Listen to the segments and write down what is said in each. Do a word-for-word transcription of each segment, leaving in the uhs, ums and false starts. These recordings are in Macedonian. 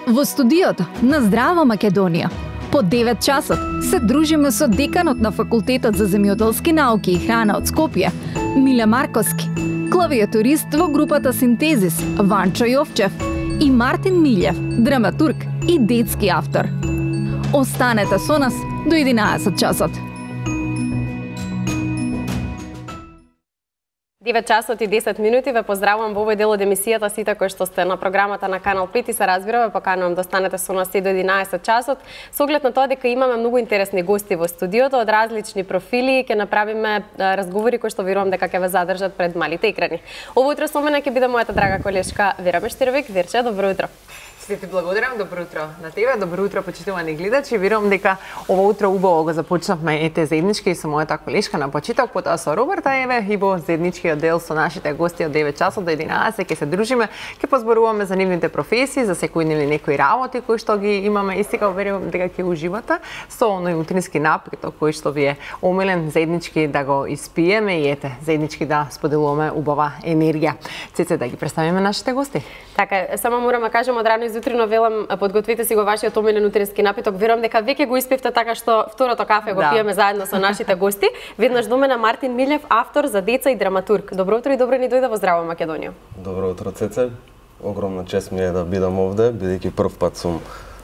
Во студиото на Здрава Македонија по девет часот се дружиме со деканот на Факултетот за земјоделски науки и храна од Скопје, Миле Марковски, клавиатурист во групата Синтезис Ванчо Јовчев и Мартин Милев, драматург и детски автор. Останете со нас до единаесет часот. девет часот и десет минути, ве поздравувам во овој дел од емисијата сите кои што сте на програмата на Канал пет и се разбира, ве поканувам да останете со нас и до единаесет часот. Со оглед на тоа дека имаме многу интересни гости во студиото од различни профили, ќе направиме разговори кои што верувам дека ќе ве задржат пред малите екрани. Ово утро со мене ќе биде мојата драга колешка Вера Мештировик. Верче, добро утро. Сите ти благодарам, добро утро на тебе, добро утро почитувани гледачи. Верувам дека ова утро убаво го започнавме ете заеднички со мојата колешка на почиток, потоа со Роберта еве и во заедничкиот дел со нашите гости од девет часот до единаесет ќе се дружиме, ќе позборуваме за нивните професии, за секојдневни некои работи кои што ги имаме и сега верувам дека ќе уживате со оној утрински напиток кој што ви е омилен заеднички да го испиеме и ете заеднички да споделуваме убава енергија. Цеце, да ги представиме нашите гости. Така, само морам да кажам од рано изутрино велам подготвите си го вашиот омилен утрински напиток. Верувам дека веќе го испивте така што второто кафе го да. пиеме заедно со нашите гости. Веднаш до мене Мартин Милев, автор за деца и драматург. Добро утро и добро ни дојде во Здрава Македонија. Добро утро, Цеце. Огромна чест ми е да бидам овде, бидејќи прв пат сум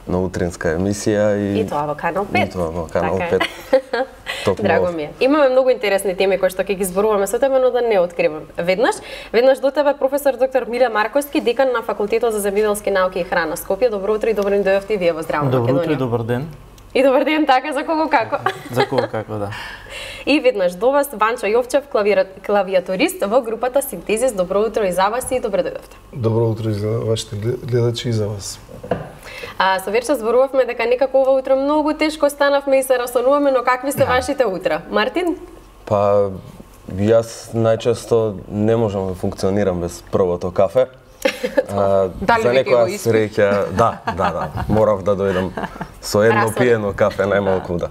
на утринска емисија и И тоа во Канал пет. И тоа во Канал така пет. Драго ми е. Имаме многу интересни теми кои што ќе ги зборуваме со тебе, но да не откривам. Веднаш, веднаш до тебе професор доктор Миле Марковски, декан на Факултетот за земјоделски науки и храна Скопје. Добро утро и добро ни дојдовте и вие во Здрава Македонија. Добро утро и добар ден. И добар ден, така, за кого како? За кого како, да. И веднаш до вас Ванчо Јовчев, клавира... клавиатурист во групата Синтезис. Добро утро и за вас и добро дојдовте. Добро утро и за вашите гледачи и за вас. А, со Верче зборувавме дека некако ова утро многу тешко станавме и се расонуваме, но какви се вашите утра? Мартин? Па, јас најчесто не можам да функционирам без првото кафе. А, Дали за веќе го некоја испи? среќа, да, да, да. Морав да дојдам со едно Расон. пиено кафе најмалку, да.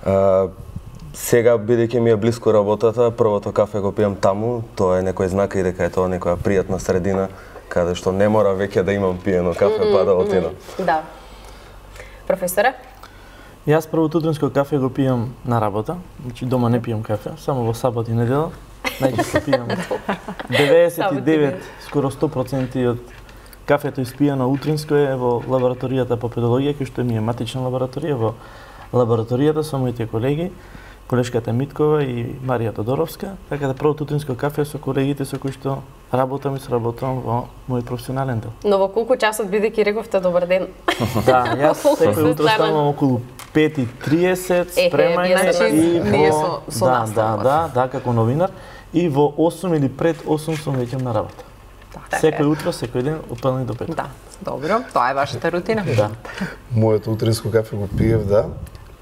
А, сега бидејќи ми е блиску работата, првото кафе го пијам таму, тоа е некој знак и дека е тоа некоја пријатна средина каде што не мора веќе да имам пиено кафе mm -hmm, па да отидам. Да. Професоре? Јас првото утринско кафе го пијам на работа, значи дома не пијам кафе, само во сабот и недела. Најчесто пијам деветдесет и девет, скоро сто проценти од кафето испијано утринско е во лабораторијата по педагогија, кој што ми е матична лабораторија, во лабораторијата со моите колеги, колешката Миткова и Марија Тодоровска, така да првото утринско кафе со колегите со кои што работам и сработам во мој професионален дел. Но во колку часот бидејќи рековте добар ден? Да, јас секој се утро станувам околу пет и триесет, Ехе, спремање значи, и ние во со- со да, настава. да, да, да, како новинар и во осум или пред осум сум веќе на работа. Така Секој е. утро, секој ден од петнаесет до пет. Да, добро, тоа е вашата рутина. Да. Моето утринско кафе го пиев, да.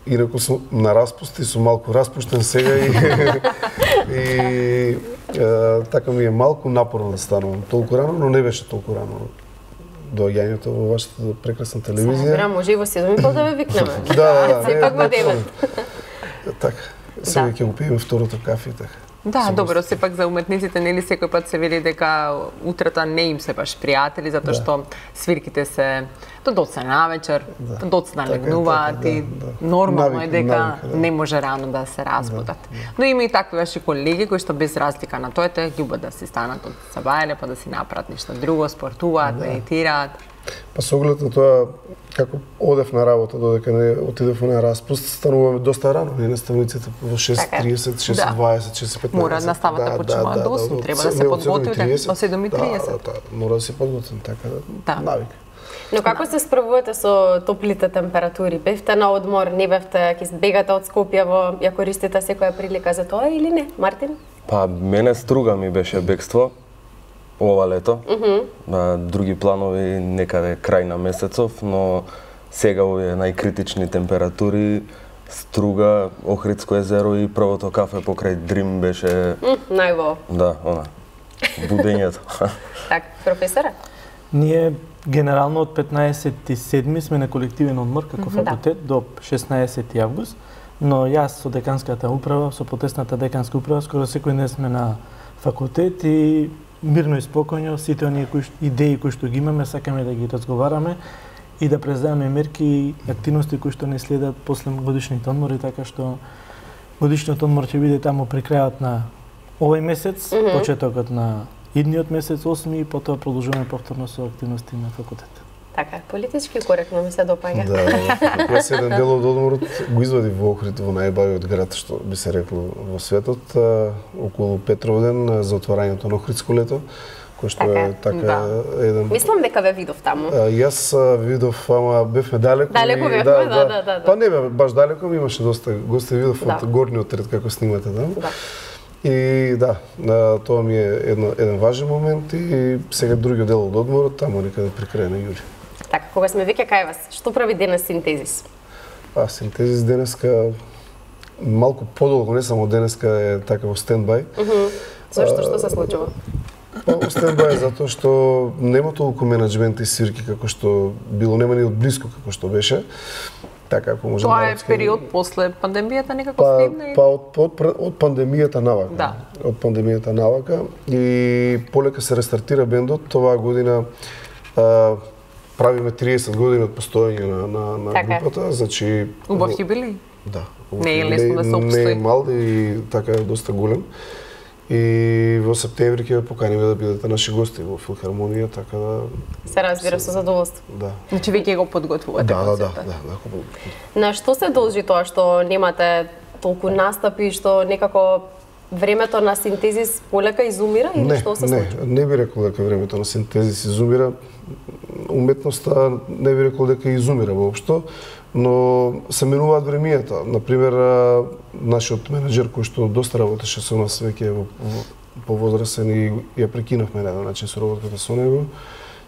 Инаку сум на распусти, сум малку распуштен сега и, и е, така ми е малку напорно да станувам толку рано, но не беше толку рано доаѓањето во вашата прекрасна телевизија. Разбирам, може и во седум и пол да ве викнеме. Да, да, да. Сепак во не, девет. Така, сега Да. ќе го пиеме второто кафе и така. Да, добро, сепак за уметниците нели секој пат се вели дека утрата не им се баш пријатели затоа што свирките се до доцна навечер, Да. доцна Така е, легнуваат така, и да, да. нормално е Навик- дека навика, да. не може рано да се разбудат. Но има и такви ваши колеги кои што без разлика на тоа те љубат да се станат од сабајле па да си направат нешто друго, спортуваат, медитираат. Па со оглед на тоа, како одев на работа, додека не отидев на распуст, стануваме доста рано, не наставниците во шест и тридесет, шест и дваесет, шест и петнаесет. Мора наставата почнува до осум, треба да се не, од подготвите седум и тридесет. до седум и тридесет. Да, да, мора да се подготвим, така да, Да. навик. Но како се справувате со топлите температури? Бевте на одмор, не бевте, ќе бегате од Скопје, во ја користите секоја прилика за тоа или не, Мартин? Па, мене струга ми беше бегство ова лето. Mm -hmm. Други планови некаде крај на месецов, но сега овие најкритични температури, Струга, Охридско езеро и првото кафе покрај Дрим беше... М, најво. Да, она, будењето. Так, професора? Ние генерално од петнаесет и седми сме на колективен одмор како факултет до шеснаесети август, но јас со деканската управа, со потесната деканска управа, скоро секој ден сме на факултет и мирно и спокојно сите оние кои идеи кои што ги имаме сакаме да ги разговараме и да преземеме мерки и активности кои што не следат после годишните одмори, така што годишниот одмор ќе биде таму при крајот на овој месец, mm -hmm. почетокот на идниот месец осми и потоа продолжуваме повторно со активности на факултет. Така, политички коректно ми се допаѓа. Да, јас еден дел од одморот го извадив во Охрид, во најбавиот град, што би се рекло во светот, околу Петровден за отварањето на Охридско лето, кој што така, е така да. еден... Мислам дека ве видов таму. А, јас видов, ама бевме далеко. Далеко бевме, да, да, да, да, да. Па не бе, баш далеко, имаше доста гости, видов да. од горниот ред како снимате таму. Да. И да, тоа ми е едно, еден важен момент и сега другиот дел од одморот, таму некаде при крај на јули. Така, кога сме веќе кај вас, што прави денес Синтезис? А, Синтезис денеска малку подолго, не само денеска е така во стендбај. Mm -hmm. Зошто, што се случува? Па, во стендбај затоа што нема толку менеджмент и свирки како што било, нема ни од близко како што беше. Така, ако можем Тоа да е речем... период после пандемијата некако па, слегна? Па од, од, од пандемијата навака. Да. Од пандемијата навака и полека се рестартира бендот. Оваа година а, правиме триесет години од постоење на, на, на така. групата, значи... Убав јубилеј? Да. Не е лесно да се обстои. Не е мал и така е доста голем. И во септември ќе ве поканиме да бидете наши гости во филхармонија, така да... Се разбира со задоволство. Да. Значи веќе го подготвувате да, да, да, концертот. да, да. На што се должи тоа што немате толку настапи, што некако времето на Синтезис полека изумира или не, што се не, случува? Не би рекол дека времето на Синтезис изумира. Уметноста не би рекол дека изумира воопшто, но се менуваат времијата. Например, нашиот менеджер кој што доста работеше со нас веќе во, во повозрасен и ја прекинавме на еден начин со работата со него.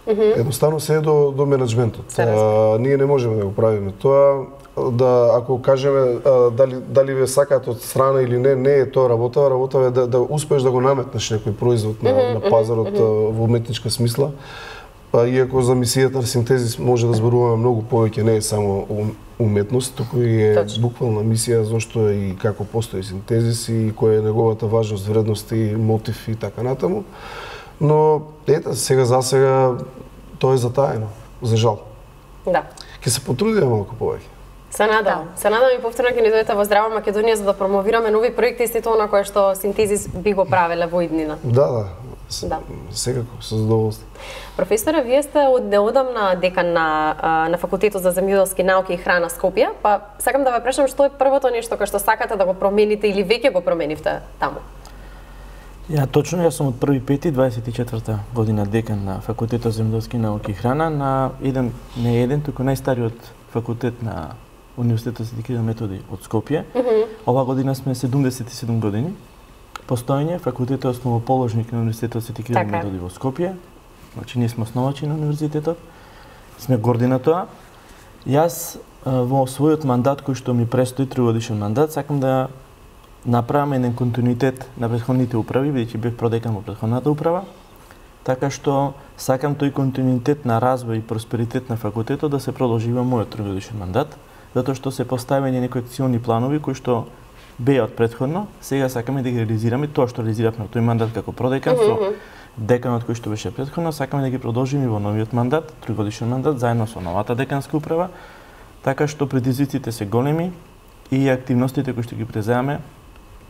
Mm -hmm. Едноставно се е до, до менеджментот. А, ние не можеме да го правиме тоа. Да, ако кажеме а, дали, дали ве сакаат од страна или не, не е тоа работа. Работа е да, да успееш да го наметнеш некој производ на, mm -hmm. на пазарот mm -hmm. во уметничка смисла. Па, иако за мисијата на Синтезис може да зборуваме многу повеќе, не е само уметност, туку и е Точно. буквална мисија зошто и како постои Синтезис и која е неговата важност, вредност и мотив и така натаму. Но ета, сега за сега тоа е затаено, за жал. Да. Ќе се потрудиме малку повеќе. Се надам. Да. Се надам и повторно ќе ни дојдете во Здрава Македонија за да промовираме нови проекти и сето она кое што Синтезис би го правеле во иднина. Да, да. Да. Секако, со задоволство. Професоре, вие сте од неодамна декан на, на Факултетот за земјоделски науки и храна Скопје, па сакам да ве прашам што е првото нешто кое што сакате да го промените или веќе го променивте таму? Ја точно, јас сум од први пети дваесет и четврта година декан на Факултетот за земјоделски науки и храна на еден, не еден, туку најстариот факултет на Универзитетот за дикирани методи од Скопје. Mm -hmm. Ова година сме седумдесет и седум години. Постоење, факултетот е основоположник на Универзитетот за дикирани методи во Скопје. Значи, ние сме основачи на универзитетот. Сме горди на тоа. Јас во својот мандат кој што ми престои тригодишен мандат, сакам да направам еден континуитет на претходните управи, бидејќи бев продекан во претходната управа, така што сакам тој континуитет на развој и просперитет на факултетот да се продолжи во мојот тригодишен мандат, затоа што се поставени некои акциони планови кои што беа од претходно, сега сакаме да ги реализираме тоа што реализиравме во тој мандат како продекан со деканот кој што беше претходно, сакаме да ги продолжиме во новиот мандат, тригодишен мандат, заедно со новата деканска управа, така што предизвиците се големи и активностите кои што ги преземаме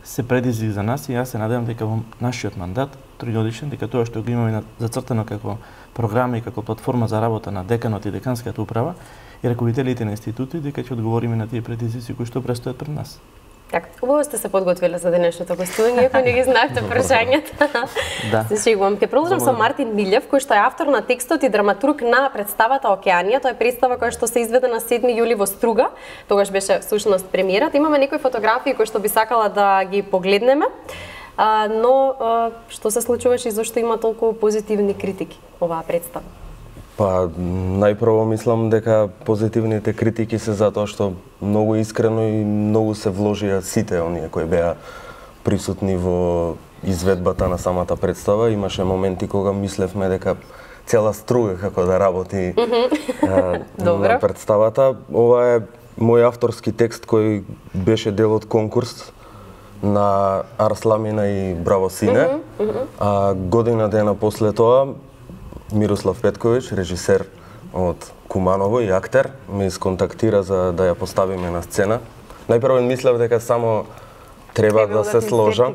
се предизвик за нас и јас се надевам дека во нашиот мандат, тригодишен, дека тоа што го имаме зацртано како програма и како платформа за работа на деканот и деканската управа и раководителите на институти, дека ќе одговориме на тие предизвици кои што престојат пред нас. Така, убаво сте се подготвиле за денешното гостување, иако не ги знаете прашањата. Да. Се шегувам. Ќе продолжам со Мартин Милјев, кој што е автор на текстот и драматург на представата Океанија. Тоа е представа која што се изведе на седми јули во Струга. Тогаш беше всушност премиерата. Имаме некои фотографии кои што би сакала да ги погледнеме. А, но а, што се случуваше и зашто има толку позитивни критики оваа представа? Па, најпрво мислам дека позитивните критики се затоа што многу искрено и многу се вложија сите оние кои беа присутни во изведбата на самата представа. Имаше моменти кога мислевме дека цела Струга како да работи а, на представата. Ова е мој авторски текст кој беше дел од конкурс на Арсламина и Браво Сине. А година дена после тоа Мирослав Петковиќ, режисер од Куманово и актер ме сконтактира за да ја поставиме на сцена. Најпрво мислев дека само треба да се сложам.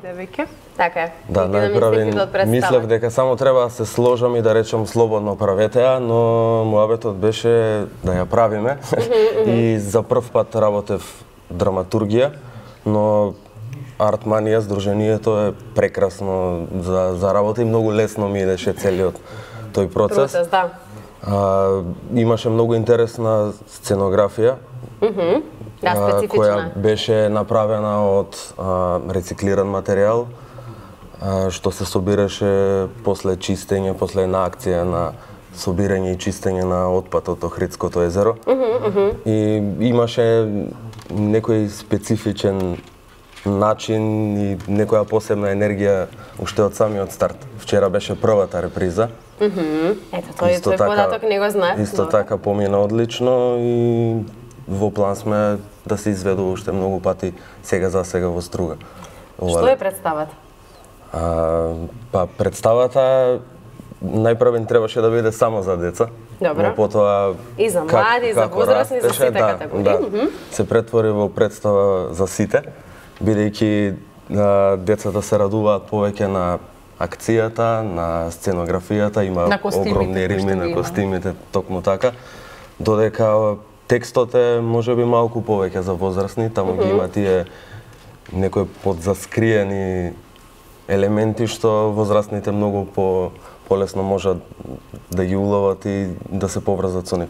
Така е. Да, најпрво мислев дека само треба да се сложам и да речам слободно правете ја, но муабетот беше да ја правиме. И за прв пат работев драматургија, но Артманија, здруженијето е прекрасно за, за работа и многу лесно ми идеше целиот тој процес. Процес, да. А, имаше многу интересна сценографија, Mm-hmm. Да, специфична. Која беше направена од а, рециклиран материјал, а, што се собираше после чистење, после една акција на собирање и чистење на отпад од Охридското езеро. Mm-hmm, mm-hmm. И имаше некој специфичен начин и некоја посебна енергија уште од самиот старт. Вчера беше првата реприза. Mm-hmm. Ето, тој, тој податок не го знае. Исто така помина одлично и во план сме да се изведува уште многу пати сега за сега во Струга. Што е представата? А, па представата најпрвен требаше да биде само за деца. Добро. Но потоа и за млади, за возрастни, за сите да, категории. Да, mm-hmm. се претвори во представа за сите, бидејќи децата се радуваат повеќе на акцијата, на сценографијата, има огромни рими на костимите, токму така, додека текстот е можеби малку повеќе за возрастни, таму mm-hmm. ги има тие некои подзаскриени елементи што возрастните многу по полесно можат да ги уловат и да се поврзат со нив.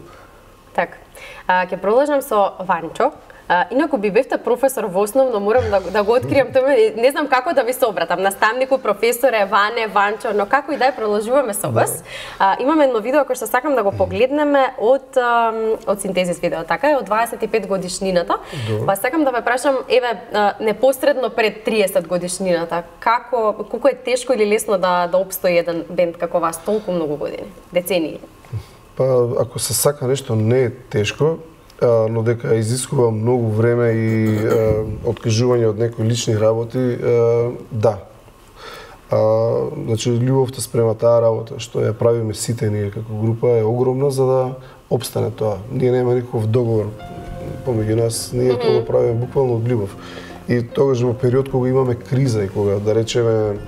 Така. Ќе продолжам со Ванчо. А, инаку би бевте професор во основно, морам да, да го откриам тоа, не знам како да ви се обратам, наставнику, професоре, Ване, Ванчо, но како и да ја продолжуваме со вас. А, имаме едно видео кој што сакам да го погледнеме од од Синтезис видео, така е, од дваесет и пет годишнината. Па сакам да ве прашам, еве, непосредно пред триесет годишнината, како колку е тешко или лесно да да опстои еден бенд како вас толку многу години, децении? Па ако се сака нешто не е тешко, но дека изискува многу време и е, откажување од некои лични работи, е, да. А, значи, љубовта спрема таа работа, што ја правиме сите ние како група, е огромна за да обстане тоа. Ние нема никаков договор помеѓу нас, ние mm-hmm. тоа го правиме буквално од љубов. И тогаш во период кога имаме криза и кога, да речеме,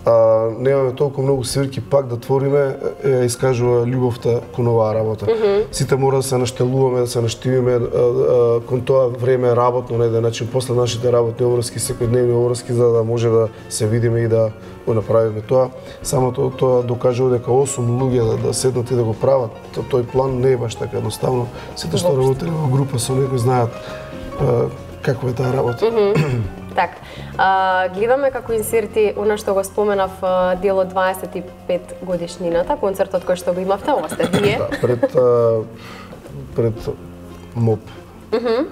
а, немаме толку многу свирки пак да твориме, ја искажува љубовта кон оваа работа. Mm-hmm. Сите мора да се наштелуваме, да се наштивиме а, а, кон тоа време работно на еден начин, после нашите работни обврски, секојдневни обврски, за да може да се видиме и да го направиме тоа. Само тоа, тоа докажува дека осум луѓе да, да седнат и да го прават. Тој план не е баш така едноставно. Сите што работеле во група со некој знаат а, какво е таа работа. Mm-hmm. Так, а, гледаме како инсерти она што го споменав дел од дваесет и пет годишнината, концертот кој што го имавте, ова сте вие. Да, пред а, пред МОП. Mm-hmm.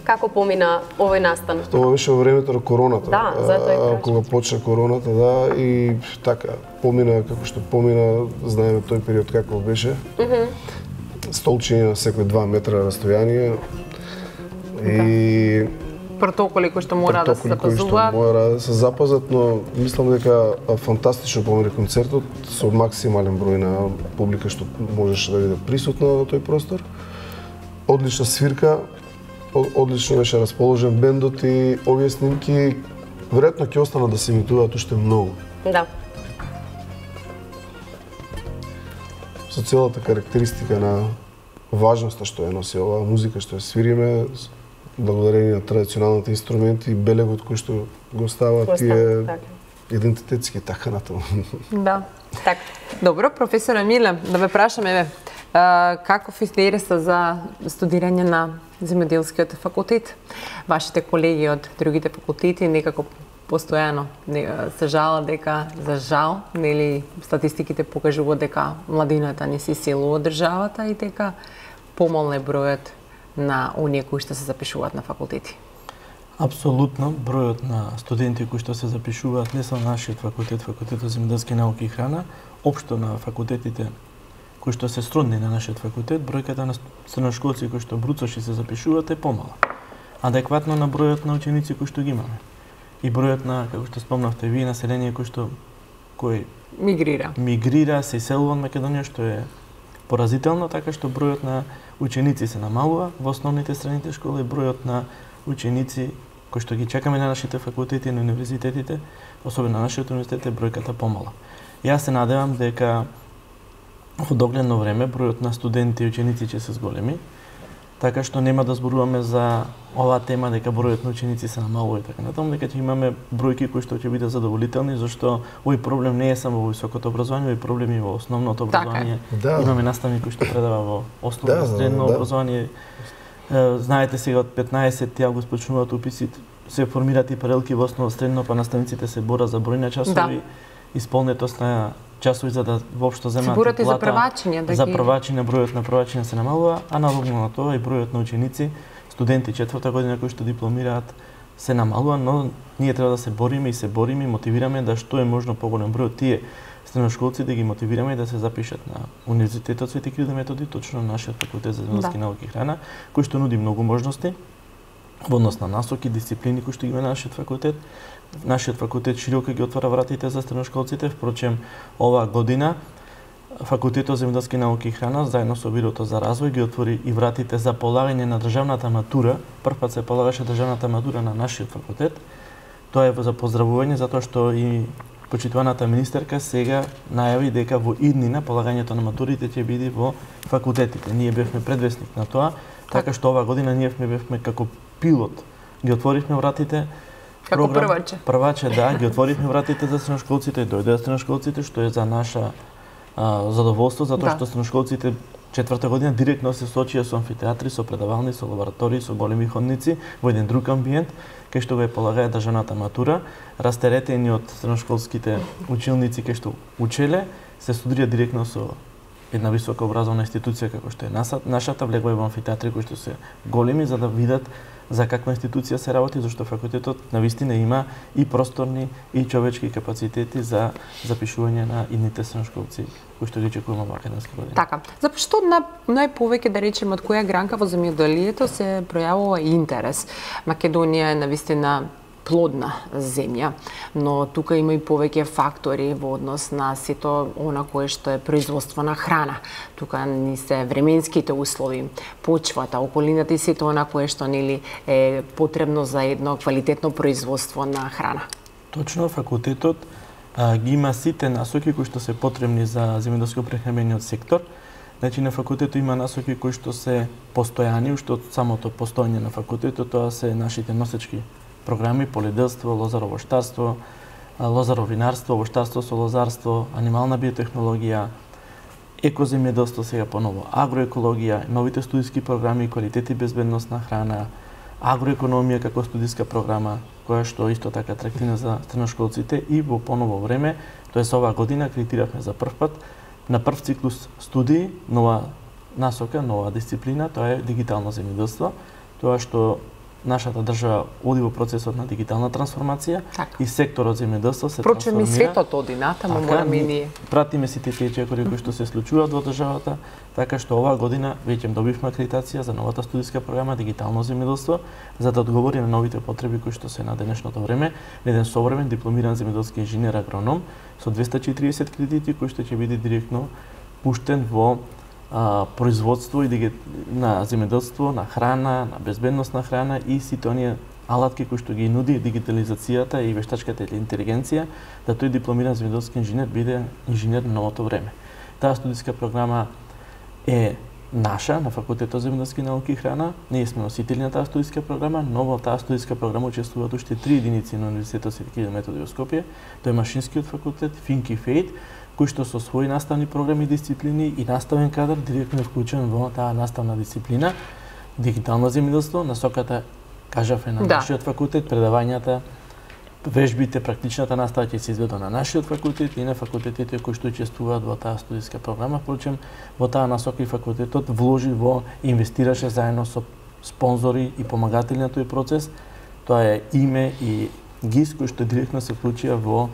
Како помина овој настан? Тоа беше во времето на короната. Да, затоа и кога почна короната, да, и така помина како што помина, знаеме тој период како беше. Mm-hmm. Столчиња на секој два метра растојание. И протоколи кои што мора да се запазуваат. Мора да се запазат, но мислам дека фантастично помине концертот со максимален број на публика што можеше да биде присутна во тој простор. Одлична свирка, одлично беше расположен бендот и овие снимки веројатно ќе останат да се емитуваат уште многу. Да. Со целата карактеристика на важноста што ја носи оваа музика што ја свириме, благодарение на традиционалните инструменти и белегот кој што го ставаат тие идентитетски така натаму. Да. Така. Добро, професор Емиле, да ве прашам, еве, каков е интересот за студирање на земјоделскиот факултет? Вашите колеги од другите факултети некако постојано се жалат дека, за жал, нели, статистиките покажуваат дека младината не се иселува од државата и дека помал е бројот на оние кои што се запишуваат на факултети? Апсолутно, бројот на студенти кои што се запишуваат не само на нашиот факултет, факултетот за земјоделски науки и храна, општо на факултетите кои што се сродни на нашиот факултет, бројката на средношколци кои што бруцоши се запишуваат е помала. Адекватно на бројот на ученици кои што ги имаме. И бројот на, како што спомнавте вие, население кој што кој мигрира. Мигрира, се иселува од Македонија, што е поразително, така што бројот на ученици се намалува во основните средните школи, бројот на ученици кои што ги чекаме на нашите факултети и на универзитетите, особено на нашиот универзитет, е бројката помала. Јас се надевам дека во догледно време бројот на студенти и ученици ќе се зголеми, така што нема да зборуваме за оваа тема дека бројот на ученици се намалува и така натаму, дека ќе имаме бројки кои што ќе бидат задоволителни, зашто овој проблем не е само во високото образование, овој проблем и во основното образование. Да. Имаме наставник кој што предава во основно Да, средно да. образование. Е, Знаете сега од петнаесети август почнуваат уписи, се формираат и паралелки во основно средно, па наставниците се борат за број на часови, исполнетост на часови за да воопшто земат борат и за плата, првачиња, да за ги- првачиња, бројот на првачиња се намалува, а навокна на тоа и бројот на ученици, студенти четврта година кои што дипломираат се намалува, но ние треба да се бориме и се бориме и мотивираме да што е можно поголем број од тие средношколци да ги мотивираме да се запишат на Универзитетот Свети Кирил и Методи, точно на нашиот факултет за земјоделски Да. науки и храна, кој што нуди многу можности во однос на насоки, дисциплини кои што ги има нашиот факултет. Нашиот факултет широко ги отвара вратите за средношколците, впрочем оваа година Факултетот за земјоделски науки и храна заедно со Бирото за развој ги отвори и вратите за полагање на државната матура. Првпат се полагаше државната матура на нашиот факултет. Тоа е за поздравување затоа што и почитуваната министерка сега најави дека во иднина полагањето на матурите ќе биде во факултетите. Ние бевме предвесник на тоа, така што оваа година ние бевме како пилот. Ги отворивме вратите. Како прваче. Прваче, да, ги отворивме вратите за средношколците, дојдоа средношколците, што е за наша а, задоволство, затоа Да. што средношколците четврта година директно се соочија со амфитеатри, со предавални, со лаборатории, со големи ходници, во еден друг амбиент, кај што го е полагаја државната матура, растеретени од средношколските училници кај што учеле, се студира директно со една висока образовна институција како што е нашата, влегува во амфитеатри кои што се големи за да видат за каква институција се работи, зашто факултетот навистина има и просторни и човечки капацитети за запишување на идните средношколци кои што ги чекуваме во академска година. Така, зашто на најповеќе да речеме од која гранка во земјоделието се пројавува интерес. Македонија е навистина плодна земја, но тука има и повеќе фактори во однос на сето она кое што е производство на храна. Тука ни се временските услови, почвата, околината и сето она кое што нели е потребно за едно квалитетно производство на храна. Точно, факултетот а, ги има сите насоки кои што се потребни за земјоделско-прехранбениот сектор. Значи на факултетот има насоки кои што се постојани, уште од самото постојање на факултетот, тоа се нашите носечки програми, полиделство, лозаровоштарство, лозаровинарство, воштарство со лозарство, анимална биотехнологија, екоземјоделство, сега поново агроекологија, новите студиски програми, квалитет и безбедност на храна, агроекономија како студиска програма, која што исто така атрактивна за средношколците и во поново време, тоест оваа година акредитиравме за прв пат на прв циклус студии, нова насока, нова дисциплина, тоа е дигитално земјоделство, тоа што нашата држава оди во процесот на дигитална трансформација Така. и секторот земјоделство се Впрочем и трансформира. светот оди натаму, Така, мораме и ние. Пратиме сите тие чекори кои што се случуваат во државата, така што оваа година веќе добивме акредитација за новата студиска програма Дигитално земјоделство, за да одговори на новите потреби кои што се на денешното време, на еден современ дипломиран земјоделски инженер агроном со двесте и четиридесет кредити кои што ќе биде директно пуштен во а, производство и диги... на земјоделство, на храна, на безбедност на храна и сите оние алатки кои што ги нуди дигитализацијата и вештачката интелигенција, да тој дипломиран земјоделски инженер биде инженер на новото време. Таа студиска програма е наша, на Факултетот за земјоделски науки и храна. Ние сме носители на таа студиска програма, но во таа студиска програма учествуваат уште три единици на Универзитетот Свети Кирил и Методи во Скопје. Тоа е Машинскиот факултет, Финк и Фейт, кои што со своји наставни програми и дисциплини и наставен кадар директно е вклучен во таа наставна дисциплина дигитално земјоделство. Насоката, кажавме, на Да. нашиот факултет, предавањата, вежбите, практичната настава ќе се изведува на нашиот факултет и на факултетите кои што учествуваат во таа студиска програма. Впрочем, во таа насока и факултетот вложи во инвестираше заедно со спонзори и помагатели на тој процес. Тоа е име и ГИС кои што директно се вклучија во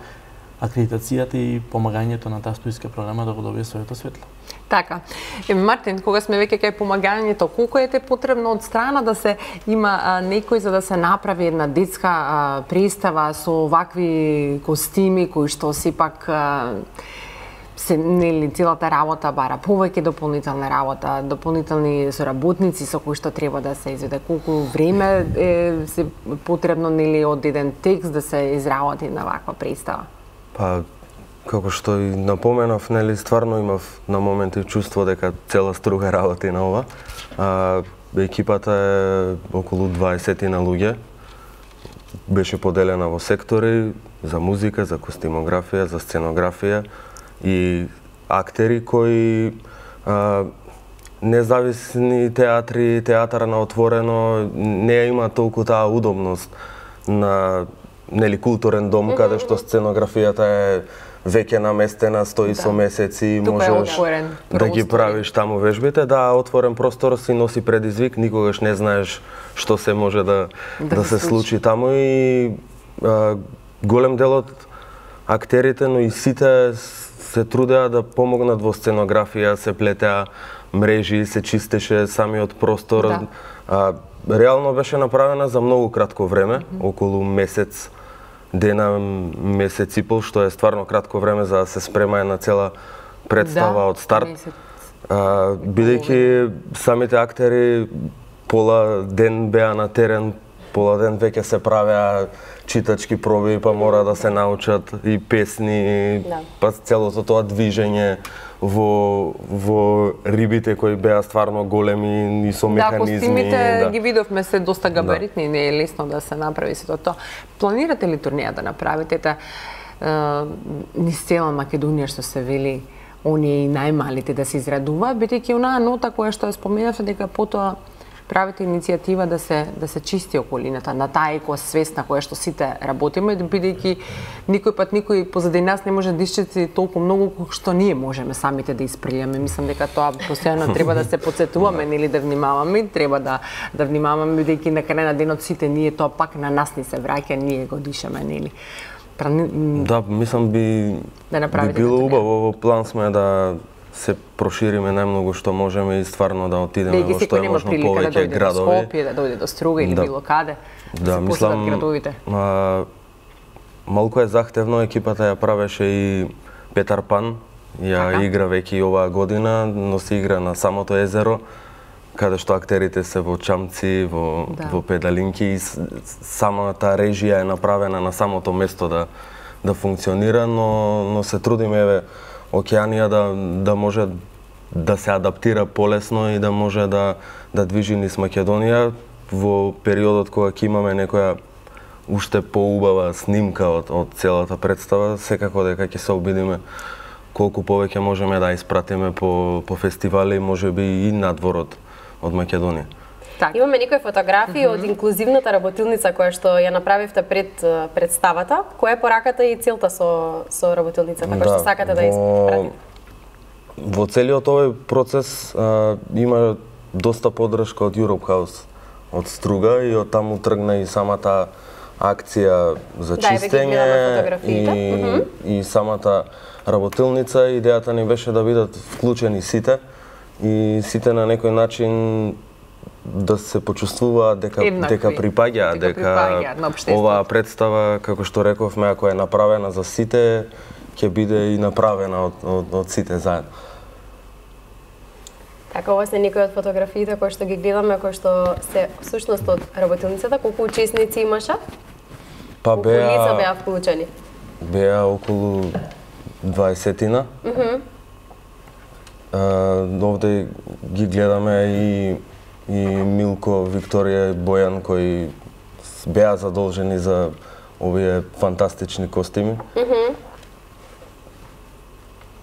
акредитацијата и помагањето на таа студиска програма да го добие своето светло. Така. Е, Мартин, кога сме веќе кај помагањето, колку е те потребно од страна да се има а, некој за да се направи една детска а, представа со вакви костими кои што сепак а, се нели целата работа бара повеќе дополнителна работа, дополнителни соработници со кои што треба да се изведе, колку време е се потребно нели од еден текст да се изработи на ваква представа? Па како што и напоменав, нели стварно имав на моменти чувство дека цела струга работи на ова. А, екипата е околу дваесет на луѓе. Беше поделена во сектори за музика, за костимографија, за сценографија и актери кои а, независни театри, театар на отворено не има толку таа удобност на нели културен дом, mm -hmm. каде што сценографијата е веќе наместена, стои да. со месеци, тука можеш да ги правиш таму вежбите. Да, отворен простор си носи предизвик, никогаш не знаеш што се може да, да, да се случи. случи таму и а, голем дел од актерите, но и сите се трудеа да помогнат во сценографија, се плетеа мрежи, се чистеше самиот простор. Да. А, реално беше направена за многу кратко време, mm -hmm. околу месец дена, месец и пол, што е стварно кратко време за да се спрема една цела представа да, од старт. А, бидејќи самите актери пола ден беа на терен, пола ден веќе се правеа читачки проби, па мора да се научат и песни, да. па целото тоа движење во во рибите кои беа стварно големи и со механизми. Да, костимите да. ги видовме се доста габаритни, да. не е лесно да се направи сето тоа. Планирате ли турнеја да направите та низ цела Македонија што се вели оние и најмалите да се израдуваат, бидејќи онаа нота која што ја споменавте дека потоа правите иницијатива да се да се чисти околината, на таа екосвест на која што сите работиме, бидејќи никој пат никој позади нас не може да исчисти толку многу колку што ние можеме самите да исприлјаме. Мислам дека тоа постојано треба да се потсетуваме, нели да внимаваме, треба да да внимаваме бидејќи на крај на денот сите ние тоа пак на нас ни се враќа, ние го дишаме, нели. Да, мислам би да би било убаво, во план сме да се прошириме најмногу што можеме и стварно да отидеме во што е можно повеќе градови. Да Скопје, да дојде до Струга или да. било каде, да, да се посетат градовите. А, малку е захтевно, екипата ја правеше и Петар Пан, ја така. игра веќе и оваа година, но се игра на самото езеро, каде што актерите се во чамци, во, да. во педалинки и самата режија е направена на самото место да, да функционира, но, но се трудиме, еве, Океанија да, да може да се адаптира полесно и да може да, да движи низ Македонија во периодот кога ќе имаме некоја уште поубава снимка од, од целата представа, секако дека ќе се обидиме колку повеќе можеме да испратиме по, по фестивали, можеби и надвор од, од Македонија. Так. Имаме некои фотографии mm -hmm. од инклузивната работилница која што ја направивте пред представата. Која е пораката и целта со со работилницата која да, што сакате да испратите? Во целиот овој процес а, има доста поддршка од Europe House, од Струга и од таму тргна и самата акција за да, чистење и, mm -hmm. и самата работилница. Идејата ни беше да бидат вклучени сите и сите на некој начин да се почувствуваат дека Еднакви, дека припаѓаат, дека, дека оваа представа, како што рековме, ако е направена за сите, ќе биде и направена од, од, од сите заедно. Така, ова се некои од фотографиите кои што ги гледаме, кои што се всушност од работилницата. Колку учесници имаше? Па беа... Колку лица беа вклучени? Беа околу дваесетина. Mm -hmm. а, овде ги гледаме и и Милко, Викторија и Бојан кои беа задолжени за овие фантастични костими. Mm -hmm.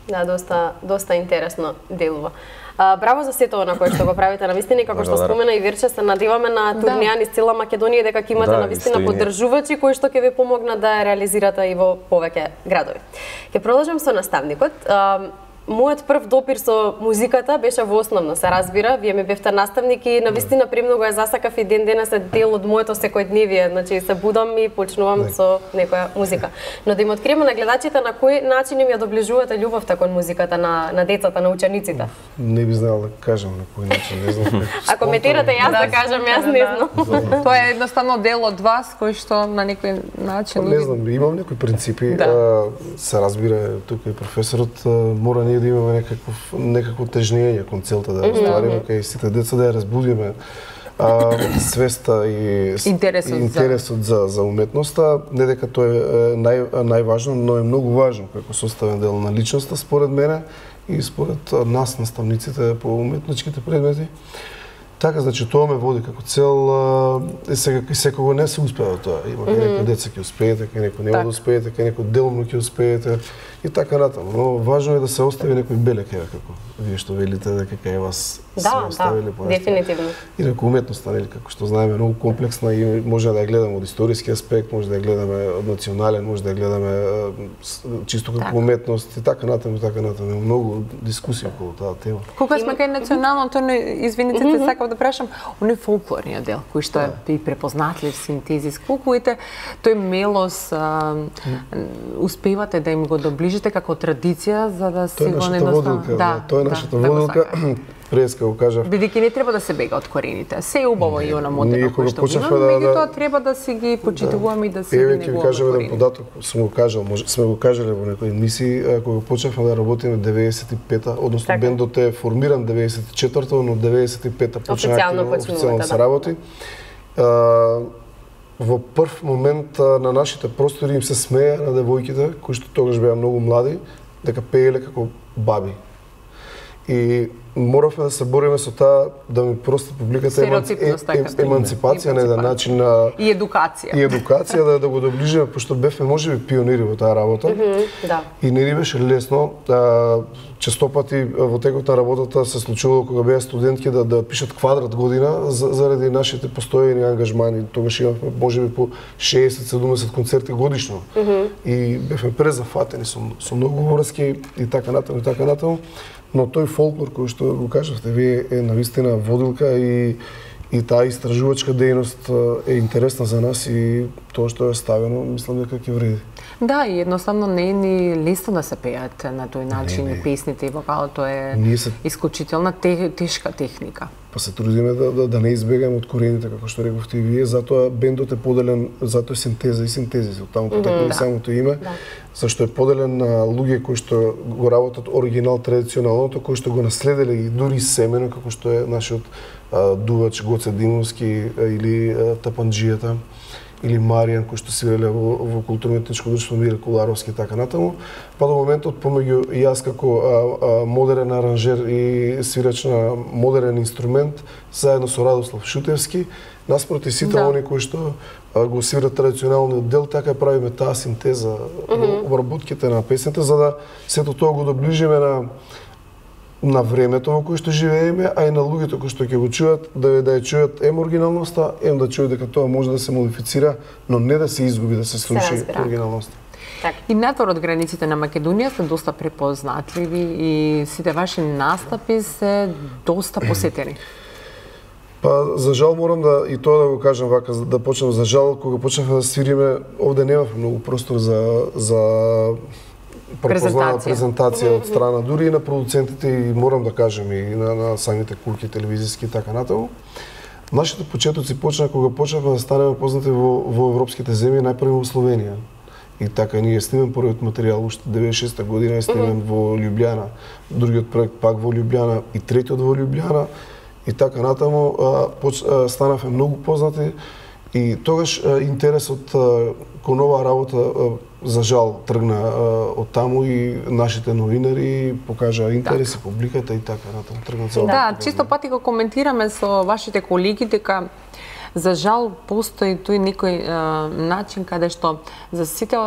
Да, доста доста интересно делува. А, браво за сето она кое што го правите, навистина, како што спомена и Вирче, се надеваме на турнеја низ цела Македонија, дека ќе имате да, навистина поддржувачи кои што ќе ви помогнат да реализирате и во повеќе градови. Ќе продолжам со наставникот. А, мојот прв допир со музиката беше во основно, се разбира, вие ми бевте наставник и навистина премногу ја засакав и ден денес е дел од моето секојдневие, значи се будам и почнувам не. со некоја музика. Но да им откриеме на гледачите на кој начин им ја доближувате љубовта кон музиката на на децата, на учениците. Не би знала да кажам на кој начин, не знам. Ако коментирате јас да, да кажам, јас не знам. Тоа е едноставно дел од вас кој што на некој начин не знам, имам некои принципи, да. а, се разбира тука и професорот, мора ние да имаме некаков некакво тежнење кон целта да оствариме кај сите деца, да ја разбудиме а, свеста и интересот, и интересот за... за за уметноста, не дека тоа е нај најважно, но е многу важно како составен дел на личноста според мене и според нас наставниците по уметничките предмети. Така, значи тоа ме води како цел, е сега кај секого не се успева тоа. Има кај некои деца ќе успеете, кај некои нема да успеете, кај некои делумно ќе успеете и така натаму. Но важно е да се остави некој белек, како вие што велите дека кај вас да, се оставили да, дефинитивно. И дека уметноста, нели, како што знаеме, многу комплексна и може да ја гледаме од историски аспект, може да ја гледаме од национален, може да ја гледаме чисто како так. уметност и така натаму, така натаму. Многу дискусија околу таа тема. Кога сме кај националното, извините се, сакав да прашам, оној фолклорниот дел, кој што е и препознатлив синтезис, колку ете тој мелос а, успевате да им го доближите како традиција за да си го недоставам. Да, тоа е нашата водилка. Преска го кажав. Бидејќи не треба да се бега од корените. Се е убаво и она мотиво кој што имаме, да, меѓутоа треба да си ги почитуваме и да си ги негуваме. Еве ќе ви кажам еден податок, сум го кажал, може сме го кажале во некои емисии, кога почнавме да работиме деветдесет и пета, односно така. Бендот е формиран деветдесет и четврта, но деветдесет и пета почнавме официјално да се работи. А, во прв момент на нашите простори им се смеја на девојките кои што тогаш беа многу млади, дека пееле како баби. И моравме да се бориме со таа да ми прости публиката еманци... еманципација на еден начин на и едукација. И едукација да да го доближиме, пошто бевме можеби пионири во таа работа. Mm -hmm, да. И не ни беше лесно. А, често пати во текот на работата се случувало кога беа студентки да да пишат квадрат година за, заради нашите постојани ангажмани. Тогаш имавме можеби по шеесет седумдесет концерти годишно. Mm -hmm. И бевме презафатени со со многу врски и така натаму и така натаму. Но тој фолклор кој што го кажавте вие е навистина водилка и и таа истражувачка дејност е интересна за нас и тоа што е ставено, мислам дека ќе вреди. Да, и едноставно не е ни лесно да се пеат на тој начин и песните и вокалот е се... исклучителна те, тешка техника. Па се трудиме да, да, да не избегаме од корените, како што рековте и вие, затоа бендот е поделен, затоа е синтеза и синтезис, од таму потекува mm -hmm, самото име, да. Зашто е поделен на луѓе кои што го работат оригинал традиционалното, кои што го наследиле и дури семено, како што е нашиот а, дувач Гоце Димовски или а, Тапанџијата, или Маријан, кој што свиреле во, во културно-етничко друштво Мире Коларовски и така натаму, па до моментот помеѓу јас како а, а, модерен аранжер и свирач на модерен инструмент, заедно со Радослав Шутевски, наспроти сите да. Они кои што а, го свират традиционалниот дел, така правиме таа синтеза mm -hmm. обработките на песните, за да сето тоа го доближиме на на времето во кое што живееме, а и на луѓето кои што ќе го чујат, да да ја чујат ем оригиналноста, ем да чујат дека тоа може да се модифицира, но не да се изгуби, да се сруши оригиналноста. Так. И надвор од границите на Македонија се доста препознатливи и сите ваши настапи се доста посетени. Па, за жал морам да и тоа да го кажам вака, да почнам за жал, кога почнавме да свириме, овде немавме многу простор за за препознана презентација од страна дури и на продуцентите и морам да кажем и на, на самите куќи телевизиски и така натаму. Нашите почетоци почнаа кога почнавме да станеме познати во, во европските земји, најпрво во Словенија. И така ние снимем првиот материјал уште деветдесет и шеста година, снимем mm -hmm. во Љубљана, другиот проект пак во Љубљана и третиот во Љубљана и така натаму а, поч, а, станавме многу познати и тогаш а, интересот а, кон оваа работа а, за жал тргна а, од таму и нашите новинари покажаа интерес и публиката и така натаму тргна цело. Да, чисто пати го коментираме со вашите колеги дека за жал постои тој некој а, начин каде што за сите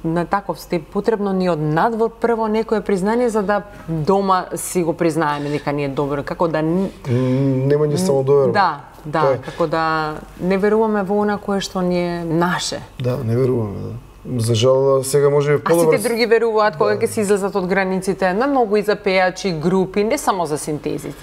на таков степ потребно ни од надвор прво некое признание за да дома си го признаеме дека ни е добро, како да нема ни самодоверба. Да, да, како да не веруваме во она кое што ни е наше. Да, не веруваме, да. за жал сега може би подобро. А сите други веруваат кога ќе се излезат од границите на многу и за пејачи, групи, не само за синтези.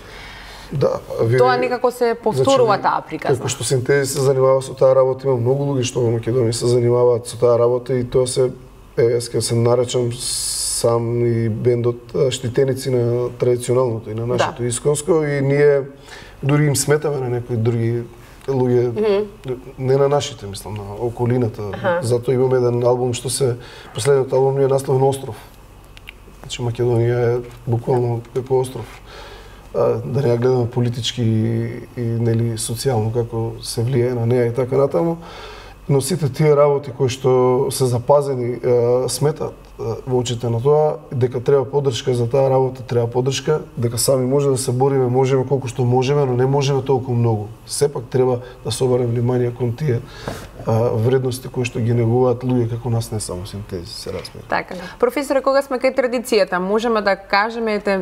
Да, ви... Тоа некако се повторува значи, таа приказна. Како што синтези се занимава со таа работа, има многу луѓе што во Македонија се занимаваат со таа работа и тоа се, еве, јас ќе се наречам сам и бендот штитеници на традиционалното и на нашето да. исконско и ние дури им сметаме на некои други луѓе, mm -hmm. не на нашите, мислам, на околината. Ага. Затоа имаме еден албум што се последниот албум ни е наслов на остров. Значи Македонија е буквално како остров. А, да не ја гледаме политички и, и нели социјално како се влијае на неа и така натаму. Но сите тие работи кои што се запазени е, сметат е, во очите на тоа дека треба поддршка за таа работа, треба поддршка, дека сами може да се бориме, можеме колку што можеме, но не можеме толку многу. Сепак треба да се обрне внимание кон тие а, вредности кои што ги негуваат луѓе како нас, не само синтези, се разбира. Така. Професоре, кога сме кај традицијата, можеме да кажеме, ете,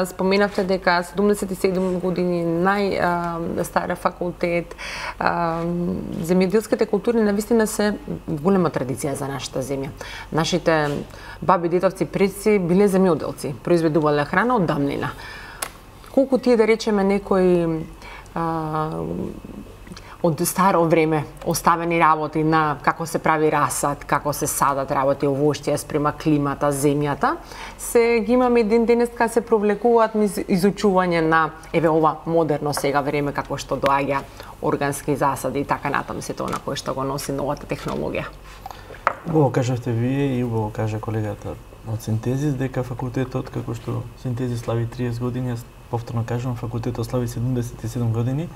споменавте дека седумдесет и седум години најстар факултет, а, земјоделските култури навистина се голема традиција за нашата земја. Нашите баби, дедовци, предци биле земјоделци, произведувале храна од давнина. Колку тие, да речеме, некои а, од старо време оставени работи на како се прави расад, како се садат работи, овошје спрема климата, земјата, се ги имаме ден денес кога се провлекуваат низ изучување на еве ова модерно сега време како што доаѓа органски засади и така натаму се тоа на кој што го носи новата технологија. Убаво кажавте вие и убаво кажа колегата од Синтезис дека факултетот како што Синтезис слави триесет години, јас повторно кажувам факултетот слави седумдесет и седум години.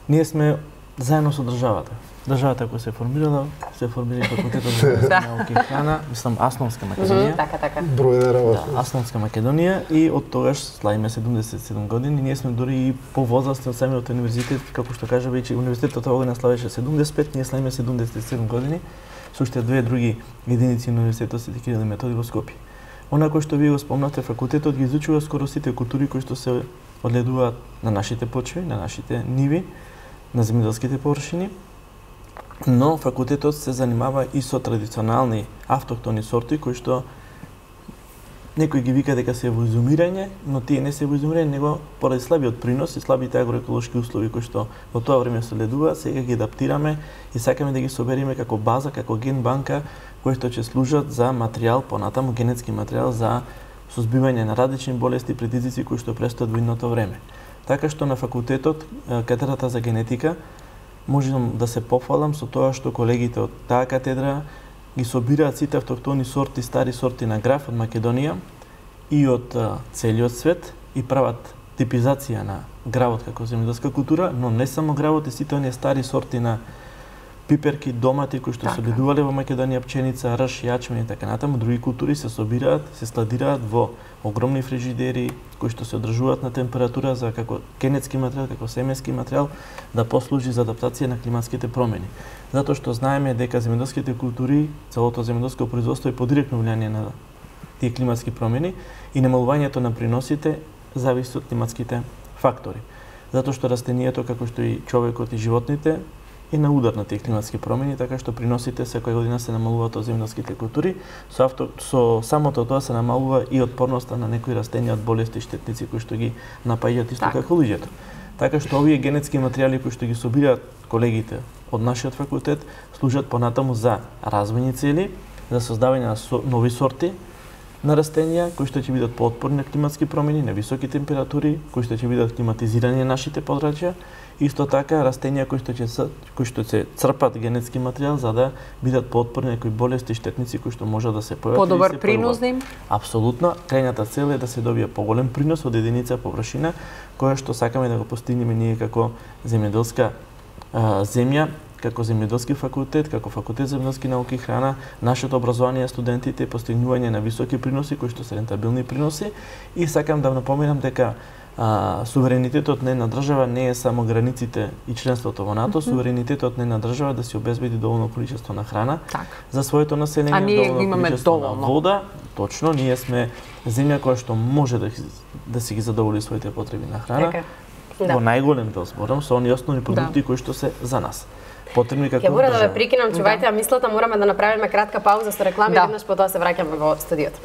Ние сме заедно со државата. Државата која се формирала, се формира факултетот за науки и храна, мислам Асновска Македонија. Така, така. Број еден работа. Да, Асновска Македонија и од тогаш славиме седумдесет и седум години. Ние сме дури и повозрасни од самиот универзитет, како што кажа веќе универзитетот оваа година славеше седумдесет и пет, ние славиме седумдесет и седум години. Со уште две други единици на универзитетот Свети Кирил и Методи во Скопје. Она кој што вие го спомнавте, факултетот ги изучува скоро сите култури кои што се одледуваат на нашите почви, на нашите ниви, на земјоделските површини, но факултетот се занимава и со традиционални автохтони сорти кои што некој ги вика дека се во изумирање, но тие не се во изумирање, него поради слабиот принос и слабите агроеколошки услови кои што во тоа време се ледува, сега ги адаптираме и сакаме да ги собериме како база, како ген банка, кои што ќе служат за материјал, понатаму генетски материјал за сузбивање на различни болести и предизвици кои што престојат во идното време. Така што на факултетот, катедрата за генетика, можам да се пофалам со тоа што колегите од таа катедра ги собираат сите автохтони сорти, стари сорти на граф од Македонија и од целиот свет и прават типизација на гравот како земјоделска култура, но не само гравот и сите оние стари сорти на пиперки, домати кои што се ледувале во Македонија, пченица, рж, јачмен и така натаму, други култури се собираат, се складираат во огромни фрижидери кои што се одржуваат на температура за како генетски материјал, како семенски материјал да послужи за адаптација на климатските промени. Затоа што знаеме дека земјоделските култури, целото земјоделско производство е под директно влијание на тие климатски промени и намалувањето на приносите зависи од климатските фактори. Затоа што растенијето, како што и човекот и животните, е на удар на тие климатски промени, така што приносите секоја година се намалуваат од земјоделските култури. Со, авто, со самото тоа се намалува и отпорноста на некои растенија од болести и штетници кои што ги напаѓаат исто како луѓето. Така што овие генетски материјали кои што ги собираат колегите од нашиот факултет служат понатаму за развојни цели, за создавање на со, нови сорти на растенија кои што ќе бидат поотпорни на климатски промени, на високи температури, кои што ќе бидат климатизирани на нашите подрачја. Исто така растенија кои што ќе кои што се црпат генетски материјал за да бидат поотпорни на некои болести и штетници кои што можат да се појават. Подобар принос да им? Апсолутно. Крајната цел е да се добие поголем принос од единица површина која што сакаме да го постигнеме ние како земјоделска а, земја, како земјоделски факултет, како факултет за земјоделски науки и храна, нашето образование студентите постигнување на високи приноси кои што се рентабилни приноси и сакам да напоменам дека А, суверенитетот на една држава не е само границите и членството во НАТО, mm -hmm. суверенитетот на една држава да си обезбеди доволно количество на храна так. за своето население, а ние доволно имаме количество доволно. на вода. Точно, ние сме земја која што може да, да си ги задоволи своите потреби на храна. Така. Да. Во најголем дел зборам со оние основни продукти да. кои што се за нас. потребни како Ќе мора да ве држава. прекинам, чувајте ја мислата, мораме да направиме кратка пауза со реклами, Да. веднаш потоа се враќаме во студиото.